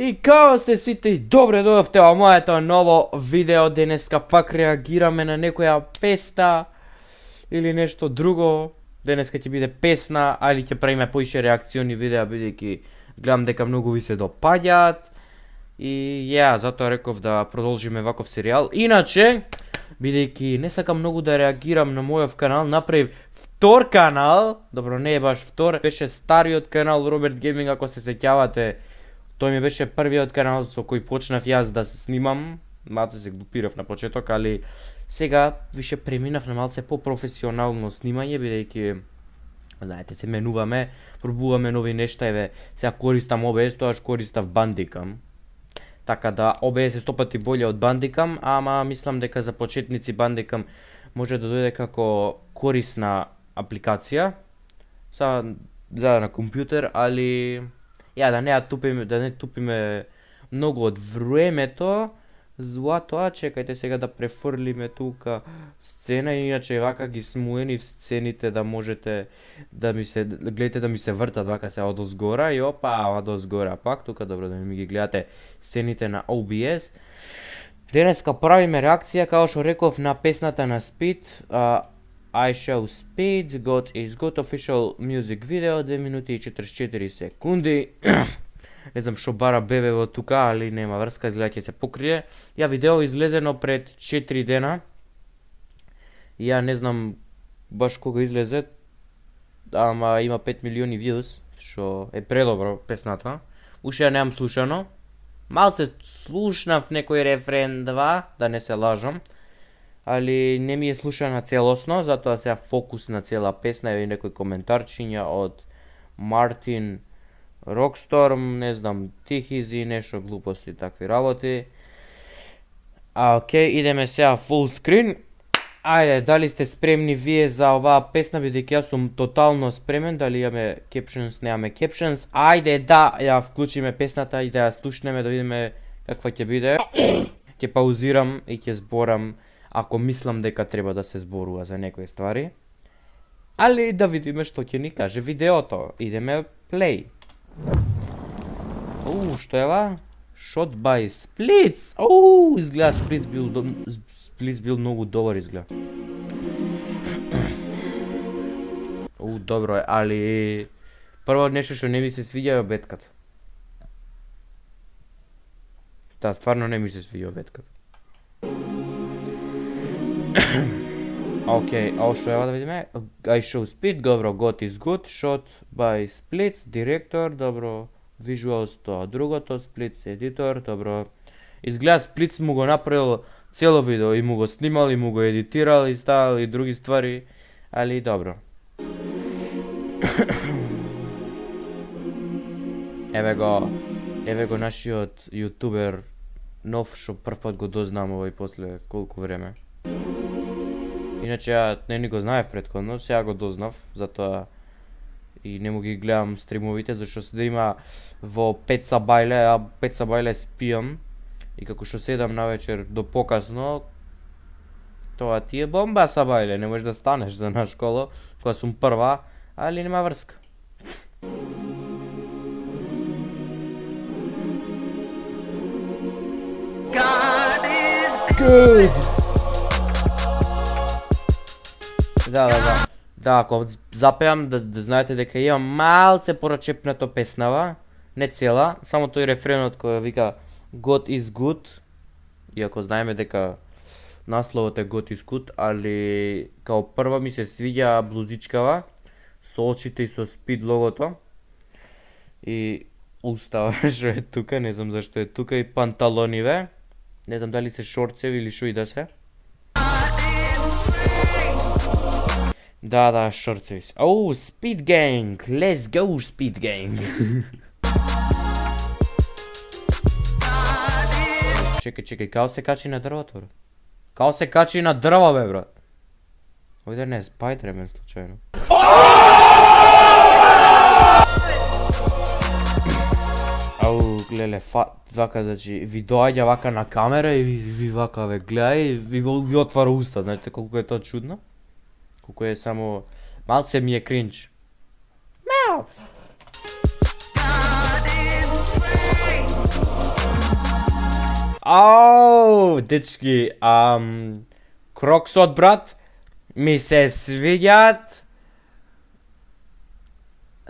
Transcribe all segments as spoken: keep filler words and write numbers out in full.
И као сте сите и добре дојавте во моето ново видео. Денеска пак реагираме на некоја песна или нешто друго. Денеска ќе биде песна, али ќе правиме поише реакциони видеа, бидејќи гледам дека многу ви се допаѓаат. И ја, затоа реков да продолжиме ваков серијал. Иначе, бидејќи не сакам многу да реагирам на мојов канал, направив втор канал. Добро, не е баш втор, беше стариот канал Роберт Гейминг, ако се сеќавате. Тој ми беше првиот канал со кој почнав јас да се снимам. Малце се глупирав на почеток, али сега више преминав на малце по-професионално снимање, бидејќи знаете, се менуваме, пробуваме нови нешта, еве, сега користам О Б С, тоаш користав Bandicam. Така да О Б С е сто пати боле од Bandicam, ама мислам дека за почетници Bandicam може да дојде како корисна апликација. Са за на компјутер, али ја да не ја тупиме, да не тупиме многу од времето. Златоа, чекајте сега да префрлиме тука сцена, иначе вака ги смуени в сцените да можете да ми се гледате да ми се вртат вака се одозгора и опа, одозгора пак тука, добро да ми ги гледате сцените на О Б С. Денеска правиме реакција, како што реков, на песната на Speed, uh, I Show Speed, God is Good official music video, две минути и четиридесет и четири секунди. Не знам што бара бебе во тука, али нема врска, изгледа ќе се покрие. Ја видео излезено пред четири дена. Ја не знам баш кога излезе, ама има пет милиони views, што е предобро песната. Уште ја немам слушано. Малце слушнав некој рефрен два, да не се лажам. Али не ми е слушана целосно, затоа сега фокус на цела песна и некој коментарчиња од Мартин Rockstorm, не знам, Тихизи, нешто глупости, такви работи. А, окей, идеме сега full screen. Ајде, дали сте спремни вие за оваа песна, бидејќи јас сум тотално спремен, дали имаме captions, немаме captions. Ајде, да, ја вклучиме песната и да ја слушнеме, да видиме каква ќе биде. Ќе паузирам и ќе зборам ако мислам дека треба да се зборува за некои ствари. Али да видиме што ќе ни каже видеото. Идеме play. Оу, што е ова? Shot by Splits. Оу, изгледа Splits бил Splits бил многу добар изгледа. Оу, добро е, али прво нешто што не ми се свиѓа е бетката. Да, стварно не ми се свиѓа бетката. Океј, ово што е да видиме? I Show Speed, добро, God is Good, Shot by Splits, директор, добро, Visuals, тоа другото, Splits, едитор, добро. Изгледа Splits му го направил цело видео, и му го снимал, и му го едитирал, и ставил, и други ствари, али добро. Еве го, еве го нашиот јутубер, нов, што прв пат го дознам овој после колку време. Иначе ја не ни го знаев претходно, сега го дознав, затоа и не му ги гледам стримовите, зашто се да има во пет сабајле, а пет сабајле спијам и како што седам на вечер до покасно, тоа ти е бомба сабајле, не можеш да станеш за на школа, кога сум прва, али нема врска. God is good. Да, да, да. Да, ако запеам, да, да знаете дека имам малце порачепнато песнава, не цела, само тој рефренот кој вика God is good, иако знаеме дека насловот е God is good, али као прва ми се свиѓа блузичкава, со очите и со Speed логото, и устава што е тука, не знам зашто е тука, и панталониве, не знам дали се шорцеви или шо и да се. Да, да, шорцеви се. Оу, Speed Gang! Let's go, Speed Gang! Чекај, чекај, као се качи на дрвото, бро? Као се качи на дрво, бе, брат? Овде не е Spider-Man, случајно. Ау, глеле, вака, значи, ви доаѓа вака на камера и ви вака, бе, гледај и ви отвара уста, знаете колку е тоа чудно? Колку е само... Малце ми е кринч. Малце! Ау, дечки, ам, Кроксот, брат, ми се свиѓаат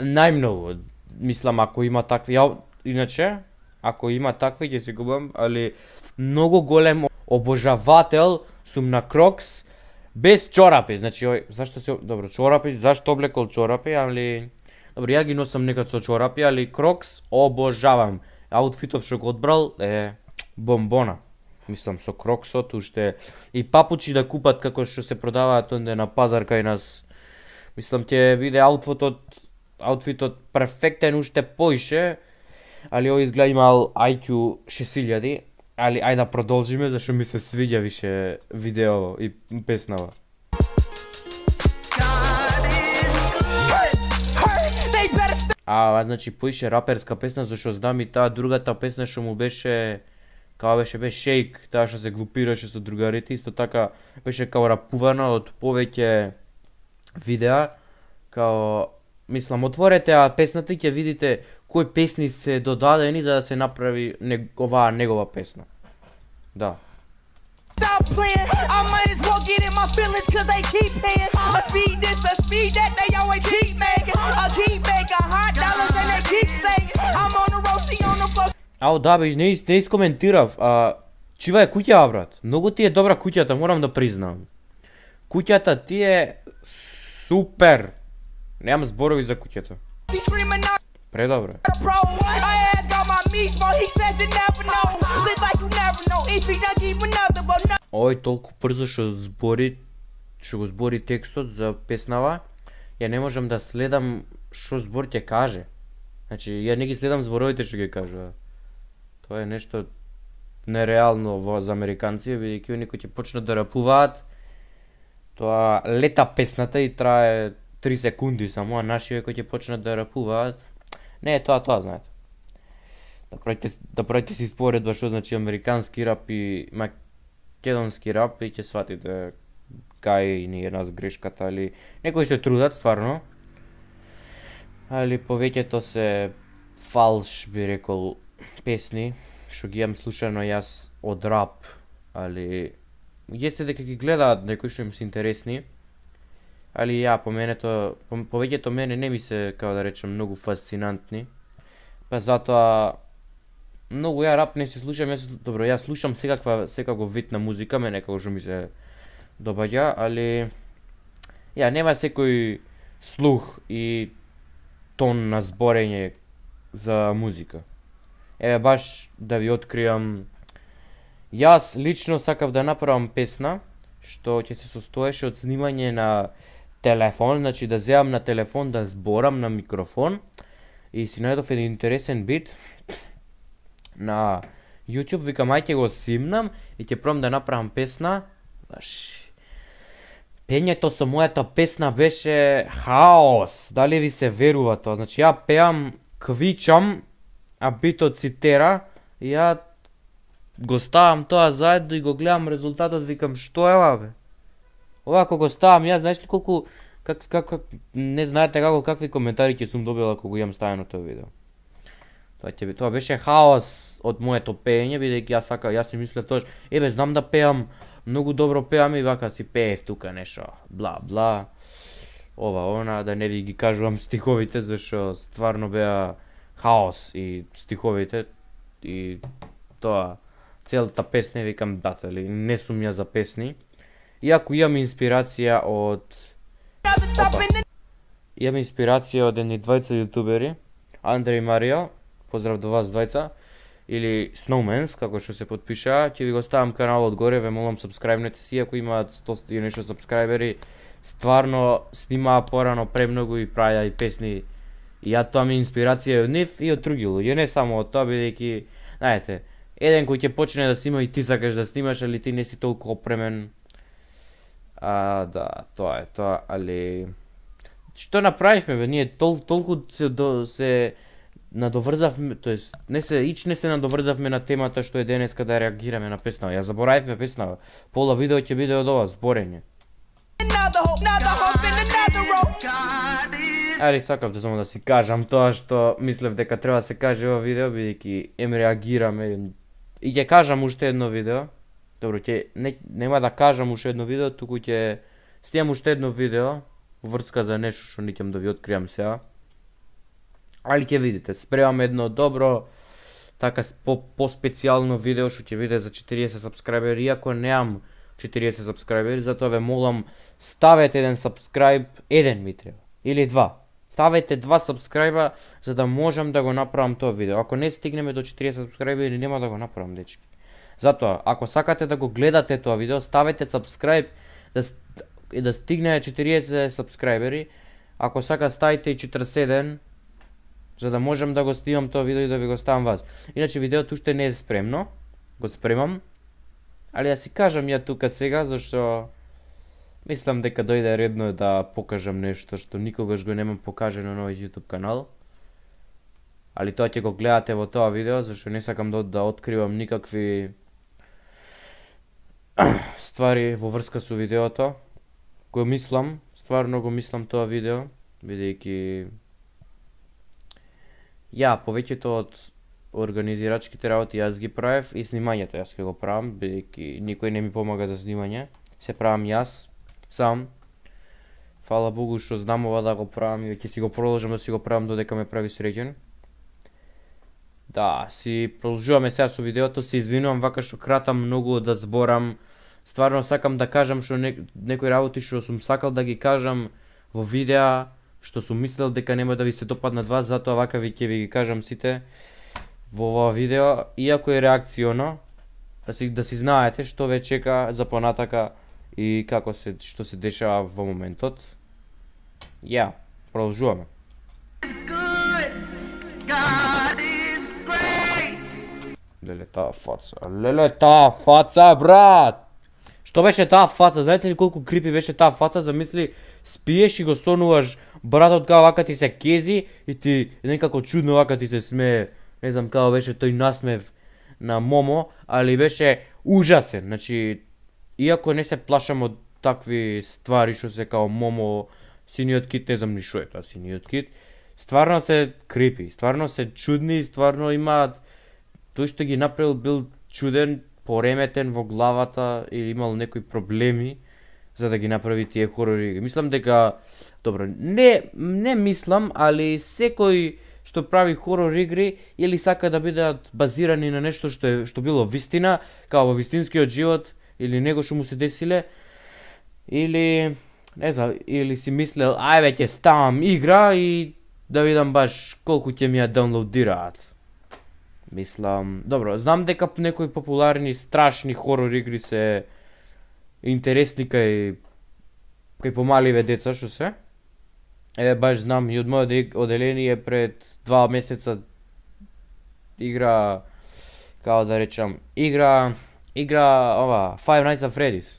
најмногу. Мислам, ако има такви, ја, иначе, ако има такви, ќе си губам, али многу голем обожавател сум на Крокс без чорапи. Значи, ој, зашто се, добро, чорапи, зашто облекол чорапи, али, добро, ја ги носам некад со чорапи, али Крокс обожавам. Аутфитов што го одбрал е бомбона. Мислам, со Кроксот, уште и папучи да купат како што се продаваат онде на пазар кај нас. Мислам, ќе биде аутфитот, аутфитот перфектен уште поише, али овој изгледа имал ај кју шест илјади, али ајде да продолжиме, зашто ми се свиѓа више видео и песнава. А, значи, поише раперска песна, зашто знам и таа другата песна што му беше, као беше бе Шейк, таа што се глупираше со другарите, исто така беше као рапувана од повеќе видеа, као, мислам, отворете а песната и ќе видите кои песни се додадени за да се направи нег... оваа негова песна. Да. Ау, да бе, не, не искоментирав, а, чива е куќа, брат? Многу ти е добра куќата, морам да признам. Куќата ти е супер. Немам зборови за куќата. Предобре. Ој, толку брзо што збори, што го збори текстот за песнава, ја не можам да следам што збор ќе каже. Значи, ја не ги следам зборовите што ги кажува. Тоа е нешто нереално во за американци, бидејќи оние кои ќе почнат да рапуваат, тоа лета песната и трае три секунди само, а нашиве кои ќе почнат да рапуваат, не е тоа тоа, знаете. Да правите, да правите си споредба што значи американски рап и македонски рап и ќе сватите кај ни е нас грешката, али некои се трудат стварно, али повеќето се фалш, би рекол, песни, што ги имам слушано јас од рап, али јесте дека ги гледаат некои што им се интересни, али ја, по мене то, по, повеќето мене не ми се, како да речем, многу фасцинантни, па затоа многу ја рап не се слушам, јас, добро, ја слушам секаква, секаков вид на музика, мене како што ми се добаѓа, али ја, нема секој слух и тон на зборење за музика. Еве баш да ви откриам, јас лично сакав да направам песна што ќе се состоеше од снимање на телефон, значи да земам на телефон да зборам на микрофон и си најдов еден интересен бит на YouTube, викам ај ќе го симнам и ќе пробам да направам песна. Баш пењето со мојата песна беше хаос. Дали ви се верува тоа? Значи ја пеам, квичам, а битот си тера, и ја го ставам тоа заедно и го гледам резултатот, викам што е ова бе? Ова ако го ставам јас, знаеш ли колку, как, как, как, не знаете како какви коментари ќе сум добила кога го имам ставено тоа видео. Тоа ќе тоа беше хаос од моето пеење, бидејќи јас сака, јас си мислев тоа, ебе знам да пеам, многу добро пеам и вака си пеев тука нешто, бла бла. Ова она, да не ви ги кажувам стиховите зашто стварно беа хаос и стиховите и тоа целата песна, викам батали, не сум ја за песни. Иако имам инспирација од Опа. Имам инспирација од едни двајца јутубери, Андре и Марио, поздрав до вас двајца, или Snowmans, како што се подпиша, ќе ви го ставам каналот горе, ве молам сабскрајбнете си, ако имаат сто и нешто сабскрајбери, стварно снимаа порано премногу и правеа и песни. И ја тоа ми инспирација од нив и од други луѓе, не само од тоа, бидејќи, знаете, еден кој ќе почне да снима и ти сакаш да снимаш, али ти не си толку опремен. А, да, тоа е тоа, али што направивме бе, ние тол, толку се, до, се надоврзавме, тоест не се ич не се надоврзавме на темата што е денеска да реагираме на песнава. Ја заборавивме песнава. Пола видео ќе биде од ова зборење. Али сакав да само да си кажам тоа што мислев дека треба да се каже ова видео, бидејќи ем реагираме и ќе кажам уште едно видео. Добро, ќе не, нема да кажам уште едно видео, туку ќе снимам уште едно видео врска за нешто што не ќе да ви откриам сега. Али ќе видите, спремам едно добро така по по-специјално видео што ќе биде за четириесет сабскрајбери, иако немам четириесет сабскрајбери, затоа ве молам ставете еден сабскрајб, еден ми треба или два. Ставете два сабскрајба за да можам да го направам тоа видео. Ако не стигнеме до четириесет сабскрајбери, нема да го направам, дечки. Затоа, ако сакате да го гледате тоа видео, ставете сабскрајб да и да стигне четириесет сабскрајбери. Ако сака ставите и четиридесет и седум за да можам да го снимам тоа видео и да ви го ставам вас. Иначе видеото уште не е спремно. Го спремам. Али да си кажам ја тука сега, зашто мислам дека дојде редно да покажам нешто што никогаш го немам покажено на овој YouTube канал. Али тоа ќе го гледате во тоа видео, зашто не сакам да, да откривам никакви ствари во врска со видеото. Го мислам, стварно го мислам тоа видео, бидејќи ја повеќето од организирачките работи јас ги правев и снимањето јас ќе го правам, бидејќи никој не ми помага за снимање, се правам јас сам. Фала Богу што знам ова да го правам и ќе си го продолжам да си го правам додека ме прави среќен. Да, си продолжуваме сега со видеото, се извинувам вака што кратам многу да зборам. Стварно сакам да кажам што не, некои работи што сум сакал да ги кажам во видеа, што сум мислел дека нема да ви се допаднат вас, затоа вака ви ќе ви ги кажам сите во ова видео, иако е реакционо, да си да си знаете што ве чека за понатака и како се што се дешава во моментот. Ја, продолжуваме. Леле таа фаца, леле таа фаца, брат! Што беше таа фаца? Знаете ли колку крипи беше таа фаца? Замисли, спиеш и го сонуваш братот као вака ти се кези и ти некако чудно вака ти се смее. Не знам као беше тој насмев на Момо, али беше ужасен. Значи, иако не се плашам од такви ствари што се као Момо, синиот кит, не знам ни шо е тоа синиот кит, стварно се крипи, стварно се чудни, стварно имаат, тој што ги направил бил чуден, пореметен во главата или имал некои проблеми за да ги направи тие хорори. Мислам дека, добро, не не мислам, али секој што прави хорор игри или сака да бидат базирани на нешто што е што било вистина, као во вистинскиот живот или него што му се десиле, или не знам, или си мислел ајде ќе ставам игра и да видам баш колку ќе ми ја даунлоудираат. Мислам, добро, знам дека некои популарни страшни хорор игри се интересни кај кај помаливе деца што се. Е, баш знам и од мојот оделение пред два месеца игра, као да речам, игра, игра ова, Five Nights at Freddy's.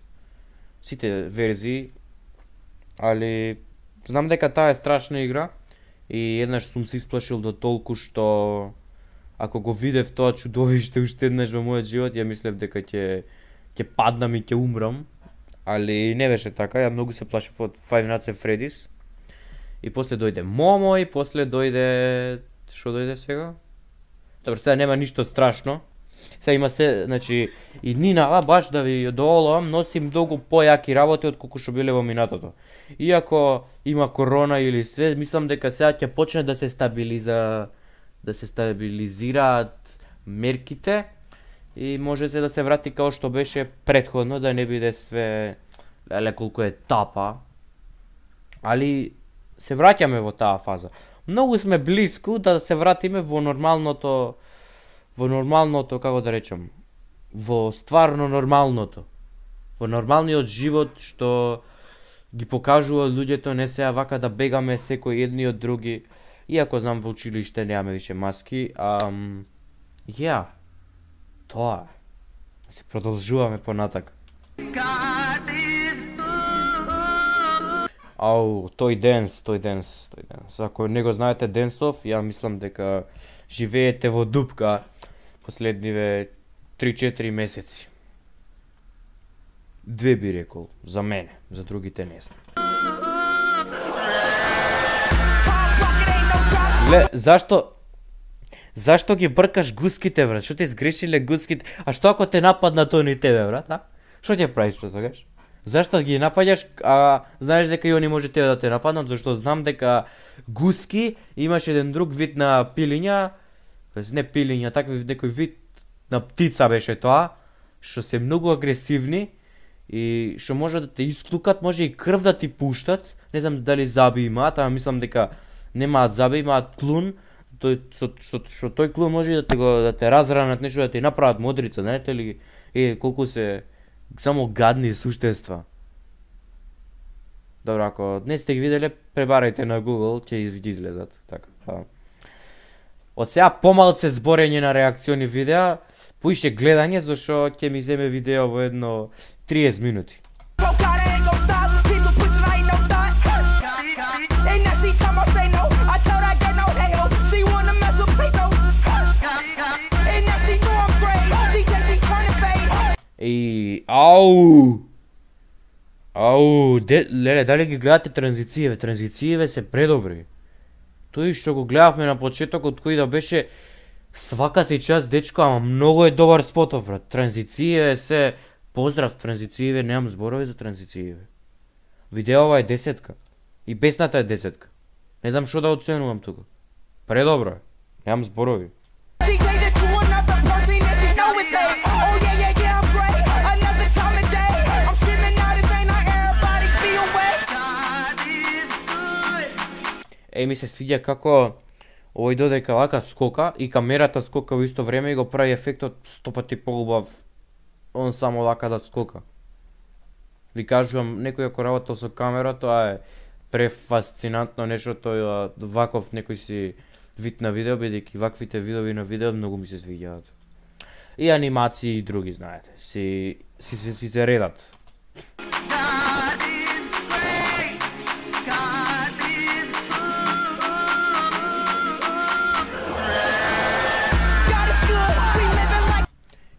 Сите верзии, али знам дека таа е страшна игра и еднаш сум се исплашил до толку што ако го видев тоа чудовиште уште еднаш во мојот живот, ја мислев дека ќе ќе паднам и ќе умрам, али не беше така, ја многу се плашев од Five Nights at Freddy's. И после дојде Момо и после дојде што дојде сега? Добро, сега нема ништо страшно. Сега има се, значи и Нинава баш да ви одолам, носим многу појаки работи од колку што биле во минатото. Иако има корона или све, мислам дека сега ќе почне да се стабилиза да се стабилизираат мерките и може се да се врати као што беше претходно, да не биде све леле колку е тапа. Али се враќаме во таа фаза. Многу сме блиску да се вратиме во нормалното, во нормалното, како да речам, во стварно нормалното. Во нормалниот живот што ги покажува луѓето, не сега вака да бегаме секој едни од други. Иако знам во училиште немаме више маски, ам ја, тоа. Да се продолжуваме понатак. Ау, тој денс, тој денс, тој денс. Ако не го знаете денсов, ја мислам дека живеете во дупка последниве три-четири месеци. Две би рекол, за мене, за другите не знам. Ле, зашто Зашто ги бркаш гуските, брат? Што те сгрешиле гуските? А што ако те нападнат они тебе, брат, а? Што ќе правиш што тогаш? Зашто ги напаѓаш, а знаеш дека и они може тебе да те нападнат, зашто знам дека гуски имаш еден друг вид на пилиња, не пилиња, такви некој вид на птица беше тоа, што се многу агресивни и што може да те исклукат, може и крв да ти пуштат. Не знам дали заби имаат, ама мислам дека немаат заби, имаат клун. Тој што што што тој клун може да те го да те разранат, нешто да ти направат модрица, знаете ли? Е колку се само гадни суштества. Добро, ако не сте ги виделе, пребарајте на Google, ќе ги излезат. Така. Па. Од сега помалце зборење на реакциони видеа, поише гледање, зашто ќе ми земе видео во едно триесет минути. И ау. Ау, де, леле, дали ги гледате транзицијеве? Транзицијеве се предобри. Тој што го гледавме на почетокот кој да беше сваката и час дечко, ама многу е добар спотов, брат. Транзицијеве се поздрав, транзицијеве, немам зборови за транзицијеве. Видеова е десетка. И песната е десетка. Не знам што да оценувам тука. Предобро е. Немам зборови. Е, ми се свиѓа како овој додека вака скока и камерата скока во исто време и го прави ефектот сто пати поубав он само вака да скока. Ви кажувам, некој ако работел со камера, тоа е префасцинантно нешто, тој ваков некој си вид на видео, бидејќи ваквите видови на видео многу ми се свиѓаат. И анимации и други, знаете, си си си, си се редат.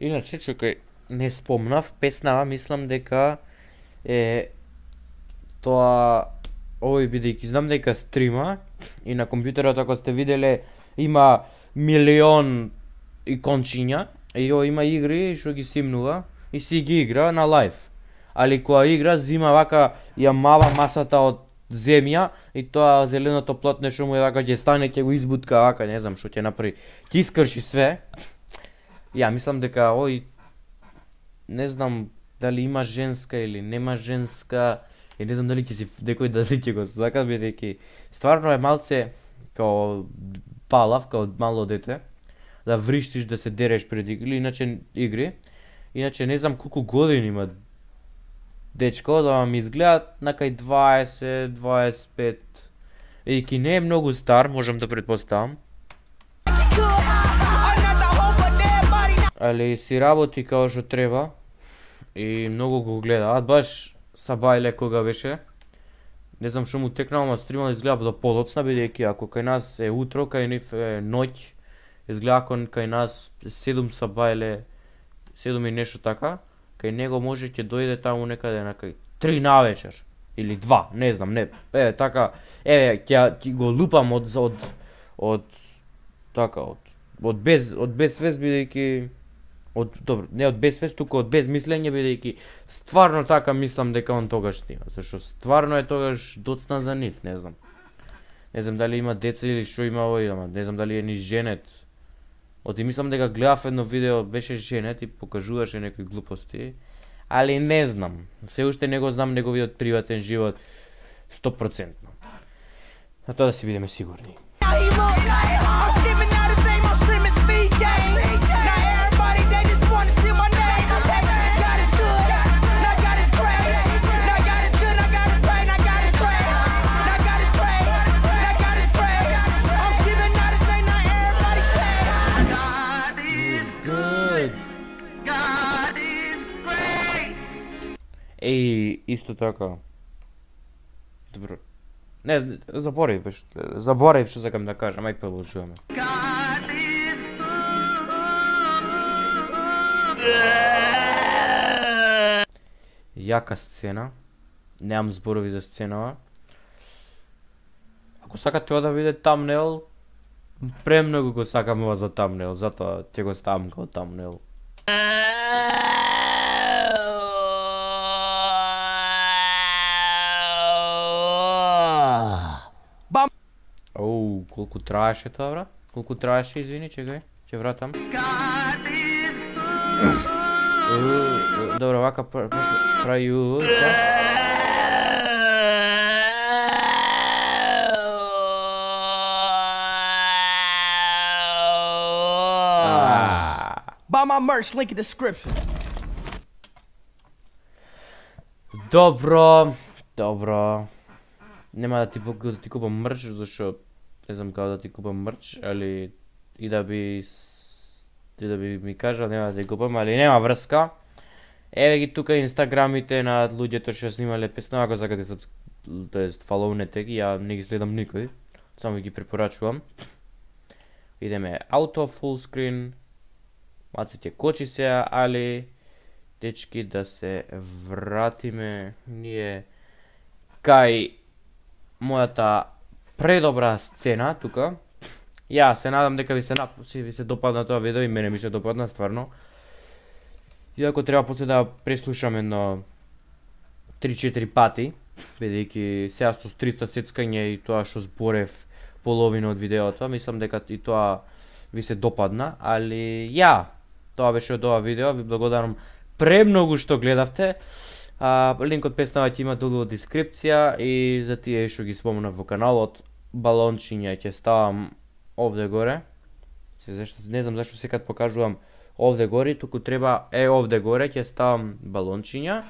Иначе, чекај, не спомнав, песнава, мислам дека е тоа овој бидејќи знам дека стрима и на компјутерот ако сте виделе има милион икончиња и о, има игри што ги симнува и си ги игра на лайв. Али кога игра зима вака ја мава масата од земја и тоа зеленото плотно што му е вака ќе стане ќе го избутка вака, не знам што ќе направи. Ќе искрши све. Ја мислам дека ој не знам дали има женска или нема женска и не знам дали ќе си некој дали ќе го сака, бидејќи стварно е малце као палав, као мало дете, да вриштиш, да се дереш пред игри, иначе игри. Иначе не знам колку години има дечко, да ми изгледа накај дваесет, дваесет и пет. И ки не е многу стар, можам да претпоставам. Али си работи као што треба и многу го гледаат, баш Сабајле кога беше. Не знам што му текнало, ама стримот изгледа до подоцна, бидејќи ако кај нас е утро, кај нив е ноќ, изгледа ако кај нас седум Сабајле, седум и нешто така, кај него може ќе дојде таму некаде на кај три навечер или два, не знам, не. Е така, е ќе го лупам од од од така од од без од без свест, бидејќи од добро, не од без свест, туку од без мислење, бидејќи стварно така мислам дека он тогаш снима, зашто стварно е тогаш доцна за нив, не знам. Не знам дали има деца или што има овој, ама не знам дали е ни женет. Оти мислам дека гледав едно видео, беше женет и покажуваше некои глупости, али не знам. Се уште не го знам неговиот приватен живот сто проценти. На тоа да си бидеме сигурни. Еј, исто така. Добро. Не, заборев, беш, заборев што сакам да кажам, ај продолжуваме. Јака сцена. Немам зборови за сценава. Ако сакате да видите тамнел, Премногу го сакам ова за тамнел, затоа ќе го ставам како тамнел. Бам! Оу, колку траеше тоа, бра? Колку траеше, извини, чекај, ќе вратам. Добро, вака прави ю. Buy my merch, link in description. Добро, добро. Нема да ти да ти купам мрч, зашто не знам како да ти купам мрч, али и да би и да би ми кажал нема да ти купам, али нема врска. Еве ги тука инстаграмите на луѓето што снимале песна, ако сакате да тоест фолоунете ги, ја не ги следам никој, само ги препорачувам. Идеме auto full screen. Маците кочи се, али дечки да се вратиме ние кај мојата предобра сцена тука. Ја се надам дека ви се нап... ви се допадна тоа видео и мене ми се допадна стварно. Иако треба после да преслушам едно три-четири пати, бидејќи сега со триста сецкање и тоа што зборев половина од видеото, мислам дека и тоа ви се допадна, али ја, тоа беше од ова видео, ви благодарам премногу што гледавте. А, линкот песнава ќе има долу од дескрипција и за тие што ги спомнав во каналот, балончиња ќе ставам овде горе. Се зашто не знам зашто секад покажувам овде горе, туку треба е овде горе ќе ставам балончиња,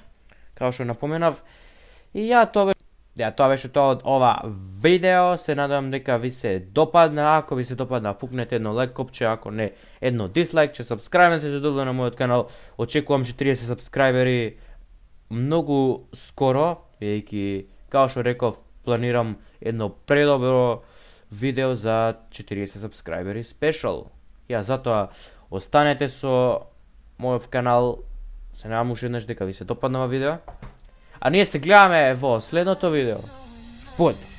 како што напоменав. И ја тоа беше Ја, тоа беше тоа од ова видео, се надевам дека ви се допадна, ако ви се допадна, пукнете едно лайк копче, ако не, едно дислайк, че сабскрајбнете се добро на мојот канал, очекувам четириесет сабскрајбери многу скоро, бидејќи, као што реков, планирам едно предобро видео за четириесет сабскрајбери спешал. Ја, затоа, останете со мојот канал, се надевам уште еднаш дека ви се допадна ова видео. А ние се гледаме во следното видео. Појде!